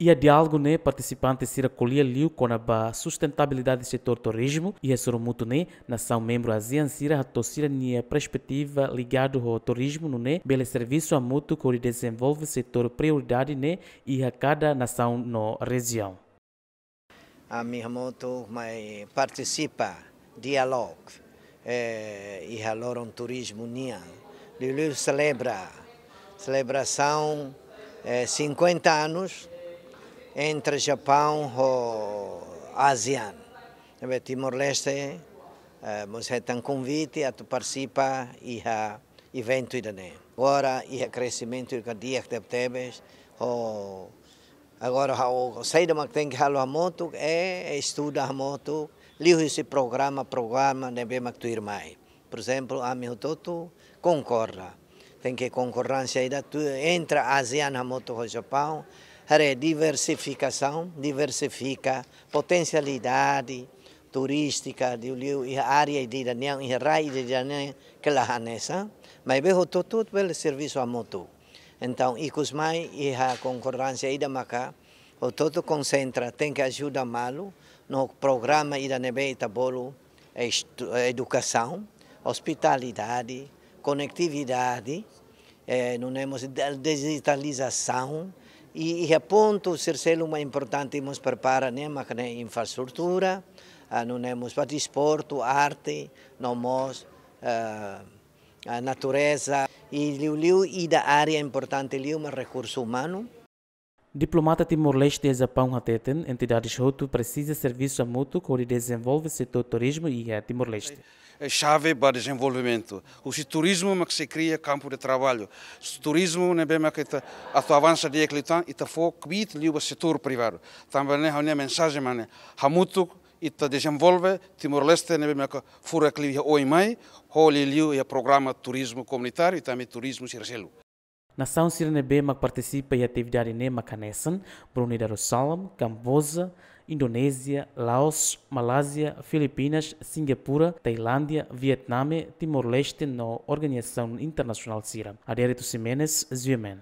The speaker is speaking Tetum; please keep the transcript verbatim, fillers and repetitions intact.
Iha diálogu ne'e partisipante sira ko'alia liu kona-ba sustentabilidade setór turizmu, iha sorumutu ne'e nasaun membru ASEAN sira hato'o sira-nia perspetiva ligadu ho turizmu nune'e bele servisu hamutuk hodi dezenvolve setór prioridade ne'e iha kada nasaun no rejiaun. Ami hamutuk mai partisipa diálogu, eh, iha loron turizmu nian. Liuliu selebra, selebrasaun, eh, cinquenta anos entre Japaun ho ASEAN. Ne'ebé Timor-Leste, eh, mós hetan konvite atu partisipa iha eventu ida-ne'e. Agora iha kresimentu ida di'ak tebetebes, ho agora ha'u saida mak tenke halo hamutuk, é, é estuda hamutuk, liuhusi programa, programa ne'ebé mak tuirmai. Por ezemplu, ami hotu-hotu konkorda. Tenke konkordánsia ida tuir entre ASEAN hamutuk ho Japaun, haree diversifikasaun, diversifika potensialidade turístika, liuliu iha área ida-idak nian, iha rai ida-idak nian, ke la hanesan, maibé hotu-hotu bele servisu hamutuk. Entaun, ikus mai iha konkordánsia ida maka, hotu-hotu konsentra, tenke ajuda malu, no programa ida ne'ebé ita bolu, estu-, edukasaun, ospitalidade, konetividade, eh, nune'e mós de-, dijitalizasaun, i, iha pontu sira seluk mak importante mós prepara ne'e, maka ne'e infraestrutura, ah, nune'e mós ba desportu, arte, no mós, eh, ah, natureza, i liuliu ida área importante liu mak rekursu umanu. Diplomata Timor-Leste iha Japaun hateten, entidades hotu presiza servisu hamutuk hodi dezenvolve setór turizmu iha Timor-Leste. É xave ba dezenvolvimentu. Husi turizmu mak sei kria kampu de traballu. Turizmu ne'ebé mak ita atu avansa di'ak liután, ita fó kbiit liu ba setór privadu. Tanba ne'e ha'u-nia mensajen mak ne'e. Hamutuk ita dezenvolve Timor-Leste ne'ebé mak furak liu iha oin mai, ho liuliu iha programa turizmu komunitáriu i tanba turizmu sira seluk. Nasaun sira ne'ebé mak partisipa iha atividade ne'e mak hanesan Brunei Darussalam, Kamboja, Indonézia, Laos, Malázia, Filipinas, Singapura, Tailándia, Vietname, Timor-Leste no organizasaun internasionál sira. Adérito Ximenes, G M N.